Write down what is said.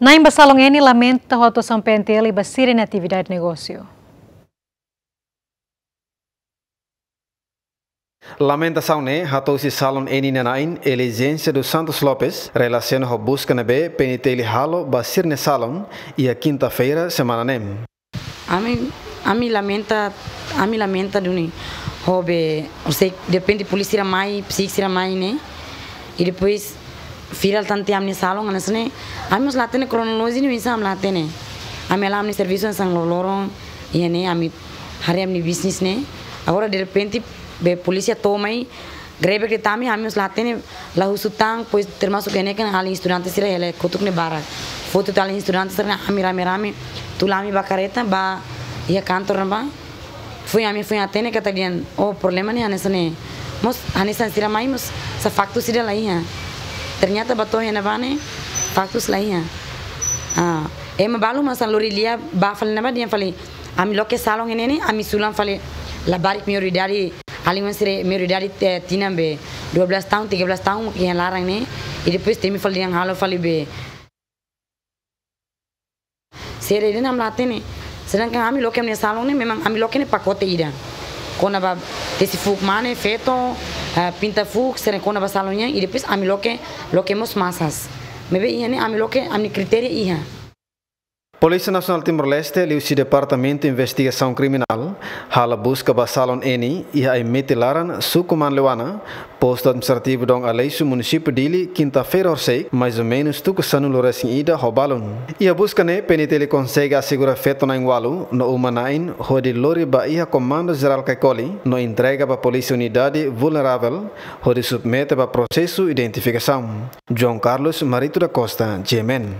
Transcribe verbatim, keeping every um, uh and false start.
Na'in ba salon N lamenta ho atuasaun P N T L ba sira-nia atividade negósiu. Lamentasaun ne'e hato'o husi salon N nia na'in Eligência dos Santos Lopes, relasiona ho buska ne'ebé P N T L halo ba sira-nia salon, iha kinta-feira semana ne'e. Ami, ami lamenta, ami lamenta duni. Ho be, sei, derrepente polísia sira mai, psik sira mai ne'e. I depois, fila tan tiha ami-nia salon, hanesan ne'e. Ami mós la hatene kronolojia ne'e oinsá, ami la hatene. Ami hala'o ami-nia servisu hanesan loroloron, iha ne'e, ami haree ami-nia bisnis ne'e. Agora, derrepente, be polísia to'o mai, grebek de'it ami, ami mós la hatene, la husu tan, depois termasuk iha ne'e kan alin estudante sira hela kotuk ne'e barak. Foti tiha alin estudante sira-ne'e, ami rame-rame, tula ami ba kareta, ba iha kantor ne'ebá. Foin ami foin hatene katak dehan, oh, problema ne'e hanesan ne'e. Mós hanesan sira mai mós, sá faktus ida la iha. Ternyata ba to'o iha ne'ebá ne'e, faktus la iha. Ah, ema balu mak hanesan lori lia ba fali ne'ebá dehan fali, ami loke salon ne'e ne'e, ami sulan fali labarik maioridade, alin sira maioridade, eh, tinan be dua belas tahun, tiga belas tahun, iha laran ne'e. I depois temi fali dehan halo fali be. Sira dehan ami la hatene. Sedangkan ami loke ami-nia salon ne'e, memang ami loke ne'e pakote ida. Kona-ba tesi fuuk mane, feto, eh, pinta fuuk, sira kona-ba salon nian, i depois ami loke, loke mós masas. Maibé iha ne'e ami loke, ami-nia kritéria iha. Polísia Nasionál Timor-Leste, liuhusi Departamentu Investigasaun Kriminál, halo buska ba salon N iha Aimete Laran, Suku Manleuana, Postu Administrativu Dom Aleixo, Munisípiu Dili, kinta-feira horisehik, mais ou menus tuku sanulu-resin-ida ho balun. Iha buska ne'e, P N T L konsege asegura feto na'in-ualu, no uma na'in, hodi lori ba iha Komandu Jerál Caicoli, no entrega ba Polísia Unidade Vulnerável, hodi submete ba prosesu identifikasaun. João Carlos Marito da Costa, G M N.